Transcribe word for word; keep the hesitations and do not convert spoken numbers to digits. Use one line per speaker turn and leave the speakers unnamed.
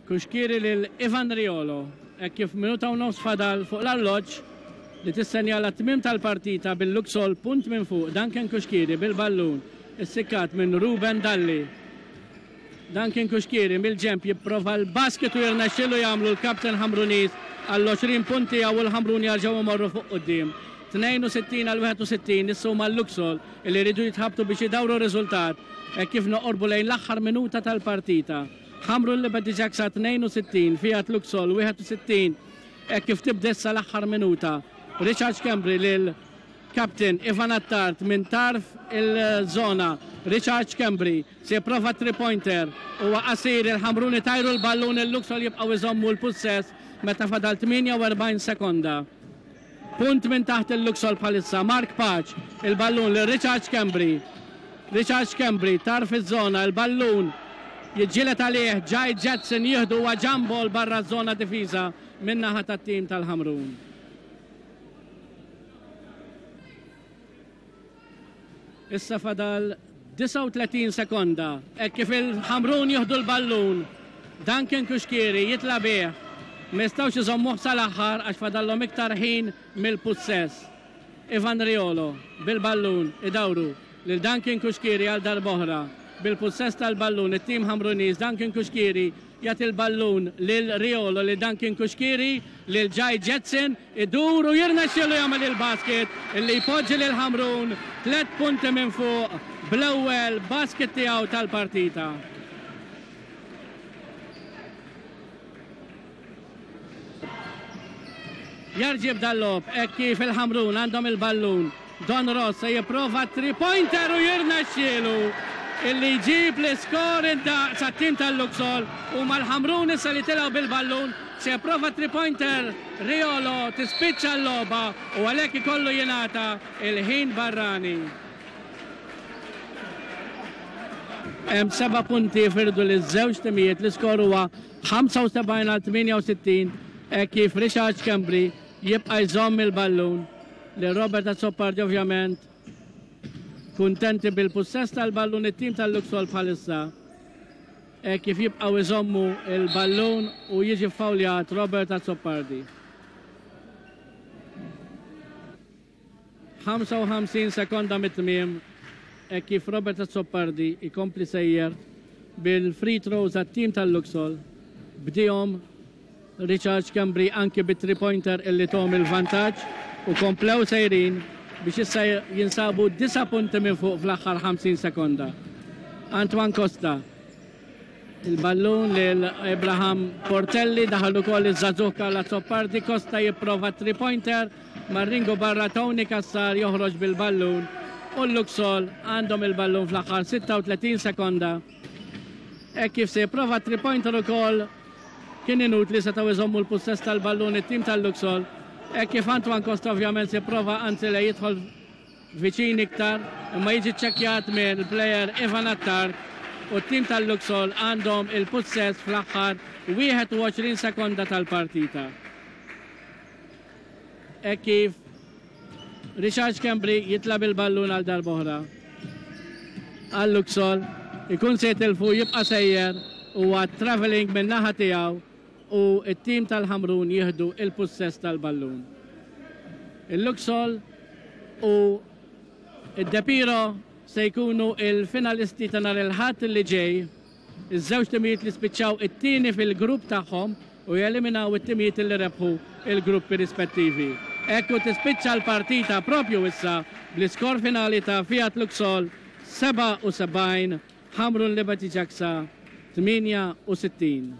Cuschieri lil Ivan Riolo, hekk kif minuta u nofs fadal fuq l-arloġġ li tissenjala tmiem tal-partita bil-Luxol punt minn fuq. Duncan Cuschieri bil-ballun, issikkat minn Ruben Dalli. Duncan Cuschieri mill-ġemp jipprova l-basket u jirnexxilu jagħmlu l-kapten Ħamruniż għall-għoxrin punti u l-Ħamrun jarġgħu imorru fuq quddiem. tnejn u sittin għal wieħed u sittin. Issa huma l-Luxol li jridu jitħabtu biex idawru r-riżultat hekk kif noqorbu lejn l-aħħar minuta tal-partita. Ħamrun Liberty Jaxa tnejn u sittin, Fiat Luxol wieħed u sittin, hekk kif tibda issa l-aħħar minuta. Richard Schembri lil Captain Ivan Attard minn tarf il-zona. Richard Schembri se jipprova three-pointer, huwa qasir. Il-Ħamruni tajru l-ballun, il-Luxol jibqgħu iżommu l-pussess meta fadal tmienja u erbgħin sekonda. Punt minn taħt il-Luxol bħalissa. Mark Pace, il-ballun lil Richard Schembri. Richard Schembri, tarf iż-żona, il-ballun jiġġieled għalih Jai Jetson, jieħdu jump ball barra żona difiża min-naħa tat-tim tal-Ħamrun. Issa fadal disgħa u tletin sekonda, hekk kif il-Ħamrun jieħdu l-ballun. Duncan Cuschieri jitla bih. Ma jistgħux iżommuh sal-aħħar għax fadallhom iktar ħin mill-pussess. Ivan Riolo bil-ballun, idawru lil Duncan Cuschieri għal darb'oħra. Bil-pussess tal-ballun it-tim Ħamruniż. Duncan Cuschieri jagħti l-ballun lil Riolo, lil Duncan Cuschieri, lil Jai Jetson, idur u jirnexxielu jagħmel il-basket illi jpoġġi lil Ħamrun tliet punti minn fuq bl-ewwel basket tiegħu tal-partita. Jerġa' jibda l-logħob hekk kif il-Ħamrun għandhom il-ballun. Don Ross se jipprova three-pointer u jirnexxielu illi jġib l-iskor indaqs għat-tim tal-Luxol u mal-Ħamrun issa li tilgħu bil-ballun. Se jipprova three-pointer Riolo, tispiċċa l-logħba u għalhekk ikollu jingħata il-ħin barrani. Hemm seba' punti jifirdu li żewġ timijiet, l-iskor huwa ħamsa u sebgħin għal tmienja u sittin, kif Richard Schembri jibqa' jżomm il-ballun li Robert Azzopardi. Ovvjament kuntenti bil-pussess tal-ballun it-tim tal-Luxol bħalissa e kif jibqgħu jżommu il-ballun u jiġi fawljat Robert Azzopardi. ħamsa u ħamsin sekonda mit-tmiem e kif Robert Azzopardi ikompli sejjer bil-free throws għat-tim tal-Luxol. Bdihom Richard Schembri anki bit three pointer illi tahom il-vantaġġ u komplew sejrin biex issa jinsabu disa' punti minn fuq fl-aħħar ħamsin sekonda. Antoine Costa, il-ballun lil Abraham Portelli, daħal ukoll iż-żagħżugħ Karl Azzopardi. Costa jipprova three pointer mar-ringu barra, Tony Cassar joħroġ bil-ballun u l-Luxol għandhom il-ballun fl-aħħar sitta u tletin sekonda. E kif se jipprova three pointer ukoll, kien inutli, setgħu jżommu l-pussess tal-ballun it-tim tal-Luxol. E kif Antoine Costa ovvjament se prova, anzi le, jidħol viċin iktar, imma jiġi ċekjat minn player Ivan Attard u t-tim tal-Luxol għandhom il-pussess fl-aħħar wieħed u għoxrin sekonda tal-partita. E kif Richard Schembri jitla bil-ballun għal darb'oħra. Għal Luxol, ikun se jitilfu, jibqa' sejjer, huwa traveling minn naħa tiegħu u it-tim tal-Ħamrun jieħdu il-pussess tal-ballun. Il-Luxol u id-Depiro se jkunu il-finalisti ta' nhar il-Ħadd li ġej, iż-żewġ timijiet li spiċċaw it-tieni fil-grupp tagħhom u jeliminaw it-timijiet li rebħu il-gruppi rispettivi. Ekku tispiċċa l-partita propju issa bl-iskor finali ta' Fiat Luxol sebgħa u sebgħin, Ħamrun Liberty Jaxa tmienja u sittin.